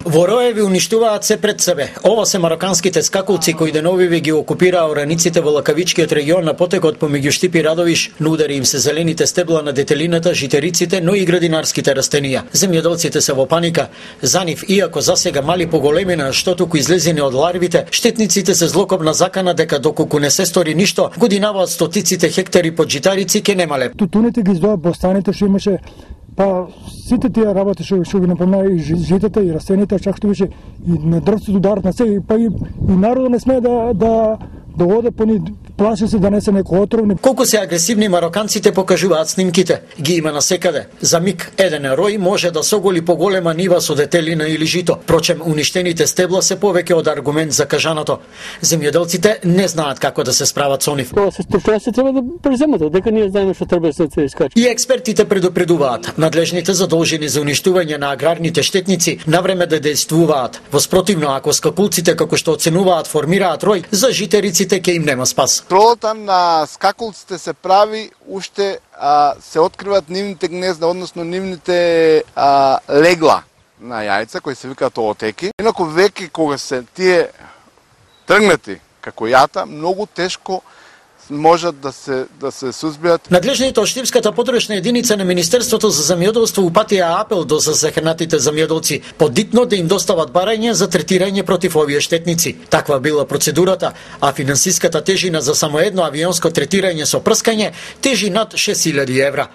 Во Роеви уништуваат се пред себе. Ова се мароканските скакулци кои деновиве ги окупираа ораниците во Лакавичкиот регион на потекот помеѓу Штип и Радовиш. Нудари им се зелените стебла на детелината, житериците, но и градинарските растенија. Земјоделците се во паника. За нив, иако засега мали по големина, што туку излезени од ларвите, штетниците се злокобна закана дека доколку не се стори ништо, годинаваат стотиците хектари под житарици ке немале. Тутуните ги издоа бостаните што имаше. Па сите тие работи што ги напомна и житата и растените, чак што беше и на дрвцето ударат на се, па и народот не смее да оде по ни, плаши се да не се некој отровни. Колку се агресивни мароканците покажуваат снимките, ги има насекаде. За миг еден рој може да соголи поголема нива со детелина или жито. Прочем, уништените стебла се повеќе од аргумент за кажаното. Земјоделците не знаат како да се справат со нив. Тоа се треба да преземат, дека ние знаеме што треба да се искачи. И експертите предупредуваат, надлежните задолжени за уништување на аграрните штетници навреме да действуваат. Во спротивно, ако скакулците како што оценуваат формираат рој, за житериците ќе им нема спас. Контролата на скакулците се прави уште се откриваат нивните гнезда, односно нивните легла на јајца кои се викаат оотеки. Инаку веќе кога се тие тргнати како јата, многу тешко можат да се сузбијат. Надлежните од Штипската подручна единица на Министерството за земјоделство упатија апел до засекнатите земјоделци подитно да им достават барање за третирање против овие штетници. Таква била процедурата, а финансиската тежина за само едно авионско третирање со прскање тежи над 6000 евра.